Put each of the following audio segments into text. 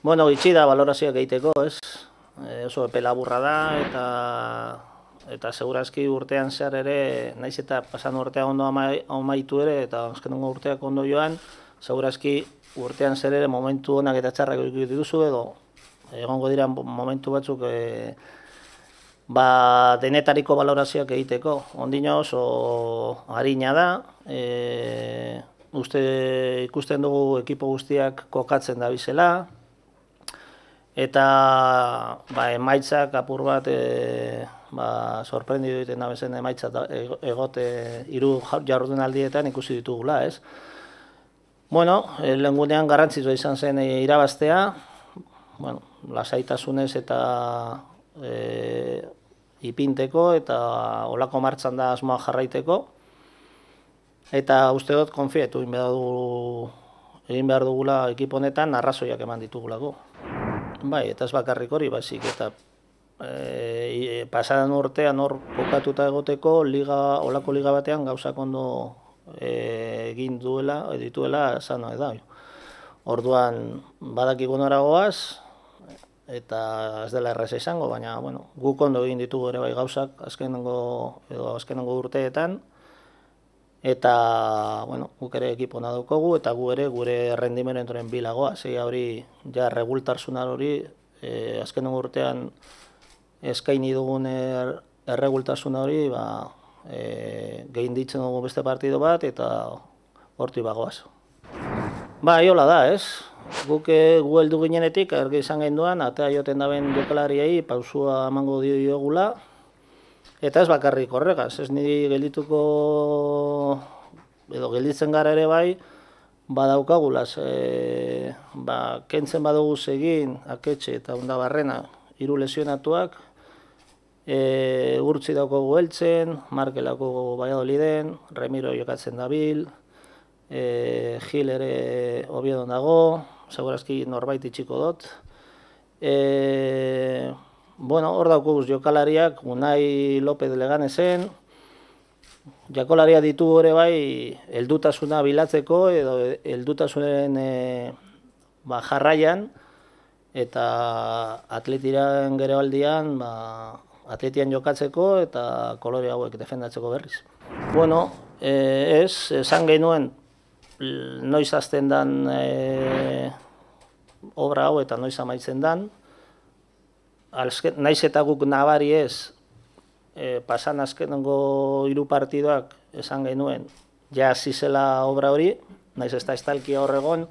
Bueno, gitxi da balorazioak egiteko, ez? Oso epe laburra da eta segurazki urtean zehar ere, naiz eta pasan urtea ondo amaitu ere eta azkenengo urteak ondo joan, segurazki urtean zer ere momentu onak eta txarrak dituzu edo egongo dira momentu batzuk denetariko balorazioak egiteko. Ondino oso harina da, ikusten dugu ekipo guztiak kokatzen da bizela, eta emaitzak apur bat sorprendidu egiten dabezen emaitzak egote 3 jardunaldietan ikusi ditugula, ez? Bueno, lehengunean garrantzitsua izan zen irabaztea, bueno, lasaitasunez eta ipinteko eta olako martxan da asmoa jarraiteko, eta uste dut konfietu egin behar dugula ekipo honetan arrazoiak eman ditugulako. Bai, eta ez bakarrik hori, baizik, eta pasadan urtean hor kokatuta egoteko olako liga batean gauzak ondo egin dituela esan da. Orduan badakiko nora goaz, eta ez dela erreza izango, baina bueno, guk ondo egin ditugu ere bai gauzak azkenengo urteetan, eta bueno, guk ere ekipona daukogu eta gu ere gure rendimenduaren bilagoa, zeia hori ja regultarsunar hori azkenengo urtean eskaini dugun erregultasuna hori gehin ditzen dugu beste partido bat eta horti bagoaz. Hola da, ez? Guk gu heldu ginenetik, argi izan genduan, atea joten daben jokalariei pausua emango diogula, eta ez bakarrik horregaz, ez niri gelditzen gara ere bai, badaukagulaz, kentzen badugu egin, Aketxe eta Ondabarrena 3 lesionatuak, Urtzi daukagu Eltzen, Markelako Valladoliden, Remiro jokatzen dabil, Gil ere Oviedon dago, segurazki norbait itxiko dut. Bueno, hor daukaguz jokalariak, Unai López Leganesen, jakolaria ditugu ere bai, heldutasuna bilatzeko edo heldutasunen jarraian, eta atletiran Gerebaldian, atletian jokatzeko eta kolore hauek defendatzeko berriz. Bueno, esan genuen noiz hasten dan obra hau eta noiz amaitzen dan, naiz eta guk nabari ez, pasan azkenengo 3 partidoak esan genuen, ja zizela obra hori, naiz ez da estalkia horregon,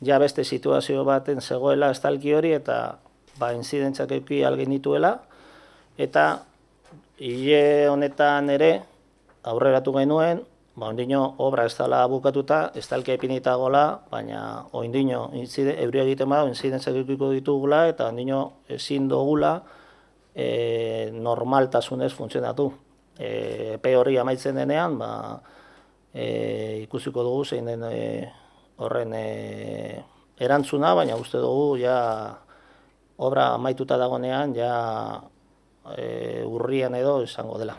ja beste situazio baten zegoela estalki hori eta inzidentzak euki algin dituela, eta hile honetan ere aurreratu genuen, ondino obra ez dela bukatuta, estalkia ipinita gola, baina ondino euria egiten bada, inzidentzak eukiko ditugula, eta ondino ezin dugula normaltasunez funtzionatu. Epe hori amaitzen denean, ikusiko dugu zein den horren erantzuna, baina uste dugu ja obra amaituta dagonean, ja urrian edo izango dela.